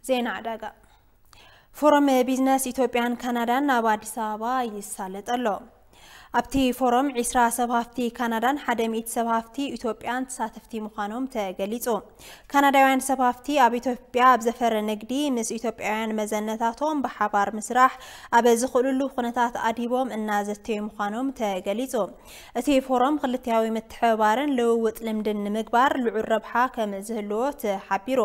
ዜና ዕዳጋ። ፎረም ቢዝነስ ኢትዮጵያን ካናዳን ናብ ኣዲስ ኣበባ ይሳለጥ ኣሎ። ኣብቲ ፎረም ዒስራ ሰብ ሃፍቲ ካናዳን ሓደ ሚእቲ ሰብ ሃፍቲ ኢትዮጵያን ተሳተፍቲ ምዃኖም ተገሊጹ። ካናዳውያን ሰብ ሃፍቲ ኣብ ኢትዮጵያ ኣብ ዘፈር ንግዲ ምስ ኢትዮጵያውያን መዘነታቶም ብሓባር ምስራሕ ኣብ ዝኽእልሉ ኩነታት ኣድሂቦም እናዘተዩ ምዃኖም ተገሊጹ። እቲ ፎረም ክልቲያዊ ምትሕብባርን ልውውጥ ልምድን ንምግባር ልዑል ረብሓ ከም ዝህልዎ ተሓቢሩ።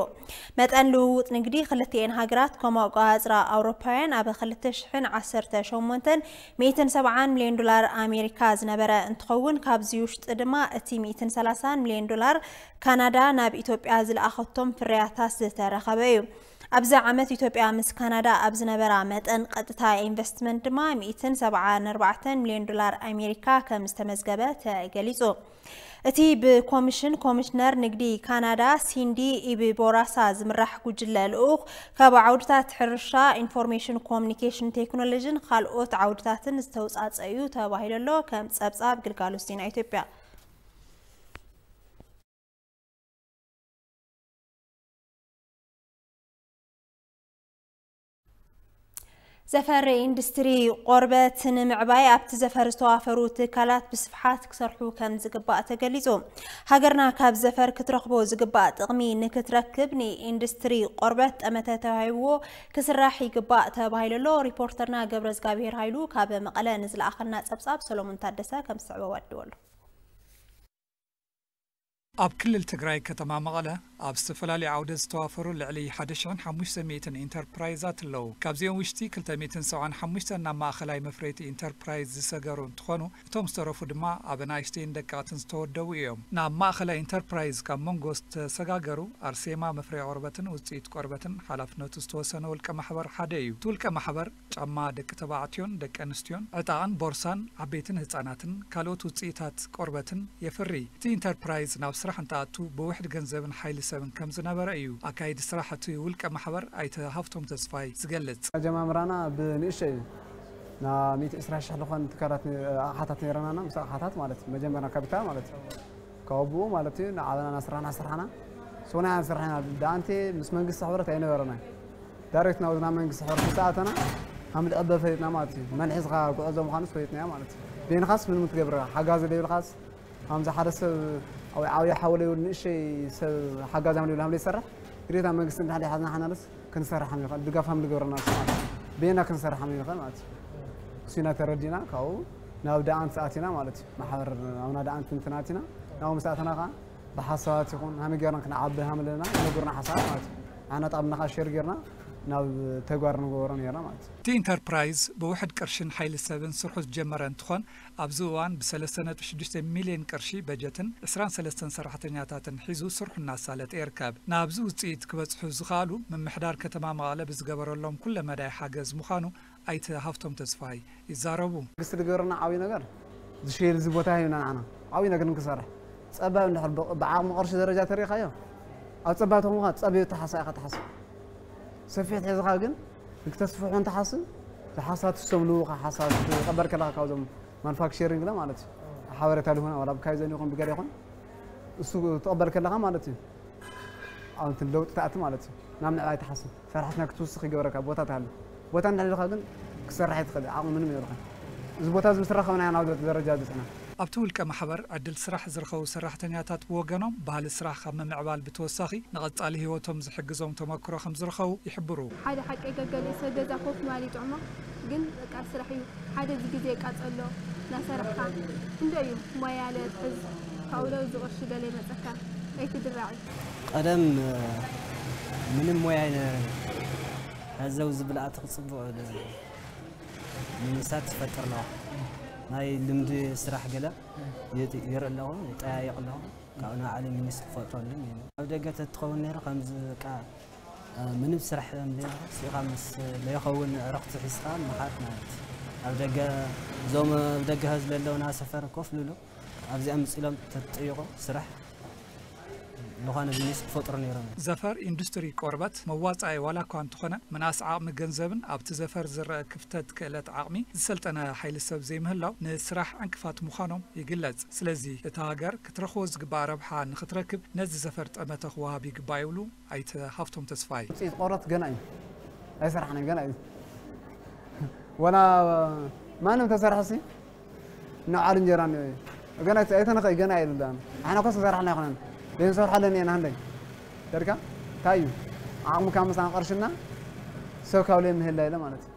መጠን ልውውጥ ንግዲ ክልቲኤን ሃገራት ከም ኣቆጻጽራ ኣውሮፓውያን ኣብ ክልተ ሽሕን ዓሰርተ ሸሞንተን ሚእትን ሰብዓን ሚልዮን ዶላር ኣሜሪካ ዝነበረ እንትኸውን፣ ካብዚ ውሽጢ ድማ እቲ ሚእትን ሰላሳን ሚልዮን ዶላር ካናዳ ናብ ኢትዮጵያ ዝለኣኸቶም ፍርያታት ዝተረኸበ እዩ። ኣብዚ ዓመት ኢትዮጵያ ምስ ካናዳ ኣብ ዝነበራ መጠን ቀጥታ ኢንቨስትመንት ድማ ሚእትን ሰብዓን ኣርባዕተን ሚልዮን ዶላር ኣሜሪካ ከም ዝተመዝገበ ተገሊጹ። እቲ ብኮሚሽን ኮሚሽነር ንግዲ ካናዳ ሲንዲ ኢቢቦራሳ ዝምራሕ ጉጅለ ልኡኽ ካብ ዓውድታት ሕርሻ፣ ኢንፎርሜሽን ኮሚኒኬሽን ቴክኖሎጂን ካልኦት ዓውድታትን ዝተውጻጸ እዩ ተባሂሉ ኣሎ፣ ከም ጸብጻብ ግልጋሎት ዜና ኢትዮጵያ። ዘፈር ኢንዱስትሪ ቆርበት ንምዕባይ ኣብቲ ዘፈር ዝተዋፈሩ ትካላት ብስፍሓት ክሰርሑ ከም ዝግባእ ተገሊጹ። ሃገርና ካብ ዘፈር ክትረኽቦ ዝግባእ ጥቕሚ ንክትረክብ ንኢንዱስትሪ ቆርበት ጠመተ ተዋሂብዎ ክስራሕ ይግባእ ተባሂሉ ኣሎ። ሪፖርተርና ገብረ እግዚኣብሔር ሃይሉ ካብ መቐለ ንዝለኣኸልና ጸብጻብ ሰሎሞን ታደሰ ከም ዝስዕቦ ኣድወሉ። ኣብ ክልል ትግራይ ከተማ መቐለ ኣብ ዝተፈላለዩ ዓውደ ዝተዋፈሩ ልዕሊ ሓደ ሽሕን ሓሙሽተ ሚእትን ኢንተርፕራይዛት ኣለዉ። ካብዚኦም ውሽጢ ክልተ ሚእትን ሰብዓን ሓሙሽተን ናብ ማእኸላይ መፍረይቲ ኢንተርፕራይዝ ዝሰገሩ እንትኾኑ፣ እቶም ዝተረፉ ድማ ኣብ ኣናእሽተይን ደቀቕትን ዝተወደቡ እዮም። ናብ ማእኸላይ ኢንተርፕራይዝ ካብ መንጎ ዝተሰጋገሩ ኣርሴማ መፍረይ ቆርበትን ውፅኢት ቆርበትን ሓላፍነቱ ዝተወሰነ ውልቀ ማሕበር ሓደ እዩ። እቲ ውልቀ ማሕበር ጫማ ደቂ ተባዕትዮን ደቂ ኣንስትዮን፣ ዕጣቕን ቦርሳን ዓበይትን ህፃናትን ካልኦት ውፅኢታት ቆርበትን የፍሪ። እቲ ኢንተርፕራይዝ ናብ ስራሕ እንትኣቱ ብውሕድ ገንዘብን ሓይሊ ሰብን ከም ዝነበረ እዩ ኣካይዲ ስራሕ እቲ ውልቀ ማሕበር ኣይተ ሃፍቶም ተስፋይ ዝገልጽ። ኣጀማምራና ብንእሽተይ እዩ። ናብ ሚእቲ ዕስራ ሺሕ ዝኾን ትካላት ነ-፣ ኣቕሓታት ነይረናና፣ ምስ ኣቕሓታት ማለት እዩ። መጀመርያ ካፒታል ማለት እዩ። ካብ ብኡ ማለት እዩ፣ ንዓበና እናስራሕና ስራሕና። ሶና ኢና ንሰርሕ ኢና። ደኣንቴ ምስ መንግስቲ ሕብረት ኣይነበረናይ። ዳይሬክት ናብ ናብ መንግስቲ ሕብረት ምስ ኣተና፣ ሃም ልዕበ ፈሊጥና ማለት እዩ። መን ሒዝኻ ጉዕዞ ምዃኑስ ፈሊጥናዮ ማለት እዩ። በይንኻስ ምንም ትገብር፣ ሓጋዚ ዘይብልኻስ፣ ሃምዚ ሓደ ሰብ፣ ዓብዪ፣ ዓብዪ ሓወለይ ይብል፣ ንእሸይ ሰብ ሓጋዚ ሃም ዘይብል ሃም ዘይሰርሕ፣ ግዴታ መንግስቲ እንድሕር ሓዝና ሓናልስ ክንሰርሕ ሃም ይኽእል፣ ድጋፍ ሃም ዝገብረና ማለት እዩ። በይና ክንሰርሕ ሃም ይኽእል ማለት እዩ። እሱ ኢና ተረዲና፣ ካብኡ ናብ ደኣንት ኣቲና ማለት እዩ። ማሕበር ኣብና ደኣንት እንትን ኣቲና፣ ናብኡ ምስ ኣተና ከዓ ብሓሳባት ይኹን ሃመይ ጌርና ክንዓቢ ሃም ኣለና፣ ይነግሩና ሓሳባት ማለት እዩ። ኣና ጣብና ከዓ ሼር ጌርና ናብ ተግባር ንገብሮ ነርና ማለት እዩ። እቲ ኢንተርፕራይዝ ብውሕድ ቅርሽን ሓይሊ ሰብን ስርሑ ዝጀመረ እንትኾን፣ ኣብዚ እዋን ብሰለስተ ነጥቢ ሽዱሽተ ሚልዮን ቅርሺ በጀትን ዕስራን ሰለስተን ሰራሕተኛታትን ሒዙ ስርሑ እናሳለጠ ይርከብ። ናብዚ ውፅኢት ክበፅሑ ዝኸኣሉ ምምሕዳር ከተማ መቐለ ብዝገበረሎም ኩለ መዳይ ሓገዝ ምዃኑ ኣይተ ሃፍቶም ተስፋይ ይዛረቡ። መንግስቲ ዝገበረና ዓብዪ ነገር ዝሸየል እዚ ቦታ ሂብና ንዓና ዓብዪ ነገር ንክሰርሕ። ጸባብ እንድሕር ብ-፣ ብዓቕሚ ቅርሺ ደረጃ ተሪኻዮ፣ ኣብ ጸባብ ተኾንካ ጸቢብ ተሓሳ ኢኻ ትሓስብ። ሰፊሕ ሒዝኻ ግን ንክተስፍሖ እንትሓስብ፣ ዝሓሳት ሰም ልውኻ ሓሳብ ትቐበል ከለኻ ካብዞም ማኑፋክቸሪንግ ለ ማለት እዩ። ሓበሬታ ልሁና ዋላ ብካይዘን ይኹን ብገለ ይኹን እሱ ትቐበል ከለኻ ማለት እዩ። ኣብ እንትን ለውጢ ትኣቲ ማለት እዩ። ናብ ምዕባይ ትሓስብ። ሰራሕትና ክትውስኽ ይገብረካ፣ ቦታ ትሃሉ። ቦታ እንድሕር ኢልካ ግን ክሰርሕ ኣይትኽእል፣ ዓቕሚ ምንም የብልካ። እዚ ቦታ እዚ ምስ ረኸብና ኢና ናብ ደረጃ በጺሕና። ኣብቲ ውልቀ ማሕበር ዕድል ስራሕ ዝረኸቡ ሰራሕተኛታት ብወገኖም፣ ባህሊ ስራሕ ካብ ምምዕባል ብተወሳኺ ንቐጻሊ ህይወቶም ዝሕግዞም ተመክሮ ከም ዝረኸቡ ይሕብሩ። ሓደ ሓቂ ገገሊኡ ሰብ ገዛ ኮፍ ምባል ይጥዕሞ፣ ግን በቃ ስራሕ እዩ። ሓደ እዚ ግዜ ቃጸሎ እናሰራሕካ እንዶ እዩ ሞያ ለትሕዝ ካብኡ ለው እዚ ቅርሺ ገለ ይመጸካ ኣይትድራዕ እዩ። ቀደም ምንም ሞያ ኣይነበረን። ሕዚ ኣብዚ ብልኣቲ ክጽብቕ ንምሳት ይፈጥር ኣለኹ። ናይ ልምዲ ስራሕ ገለ የት-፣ የርኢ ኣለኹ፣ ይጠያየቕ ኣለኹ። ካብኡ ንባዕለይ ሚኒስትሪ ክፈጥረሉ እዩ። ኣብ ደገ ተትኸውን ነይሩ ከምዚ በቃ ምንም ስራሕ እንዴ ስኢኻ ምስ ለይኸውን ዕረፍቲ ሒዝካ ምኻድ ማለት እዩ። ኣብ ደገ፣ እዞም ኣብ ደገ ህዝቢ ዘለውና ሰፈር ኮፍ ልብሉ፣ ኣብዚኣ ምጽእ ኢሎም ተጥይቑ ስራሕ ዝኾነ ቢዝነስ ክፈጥሩ ነይሮም። ዘፈር ኢንዱስትሪ ቆርበት መዋፃኢ ዋላ እኳ እንተኾነ፣ ምንኣስ ዓቕሚ ገንዘብን ኣብቲ ዘፈር ዝረአ ክፍተት ክእለት ዓቕሚ ዝሰልጠነ ሓይሊ ሰብ ዘይምህላው ንስራሕ ዕንቅፋት ምዃኖም ይግለጽ። ስለዚ እታ ሃገር ክትረኽቦ ዝግባእ ረብሓ ንክትረክብ ነዚ ዘፈር ጠመተ ክወሃብ ይግባእ ይብሉ ኣይተ ሃፍቶም ተስፋይ። ውፅኢት ቆርበት ገና እዩ፣ ኣይሰራሕናን፣ ገና እዩ። ወላ ማንም ተሰርሐ ሲ ንዓል እንጀራ ገና ኣይተነኸ ገና ይብል ዳ ንሕና ኮስ ክሰርሓልና ይኮነን ዘይንሰርሓለን ኢና። ንደይ ደርካ እንታይ እዩ ዓቕሚ ካብ ምሳና ቅርሽና ሰብ ካብ ለይ ምህላ ኢለ ማለት እዩ።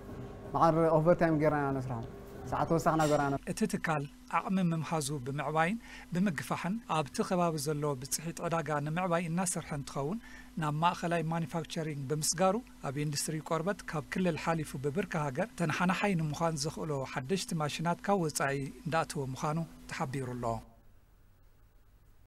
መዓር ኦቨርታይም ጌርና ኢና ነስርሖም፣ ሰዓት ተወሳኽና ገርና። እቲ ትካል ዓቕሚ ምምሃዙ ብምዕባይን ብምግፋሕን ኣብቲ ከባቢ ዘሎ ብፅሒት ዕዳጋ ንምዕባይ እናሰርሐ እንትኸውን፣ ናብ ማእኸላይ ማኒፋክቸሪንግ ብምስጋሩ ኣብ ኢንዱስትሪ ቆርበት ካብ ክልል ሓሊፉ ብብርኪ ሃገር ተነሓናሓይ ንምዃን ዘኽእሎ ሓደሽቲ ማሽናት ካብ ወፃኢ እንዳእተወ ምዃኑ ተሓቢሩ ኣሎ።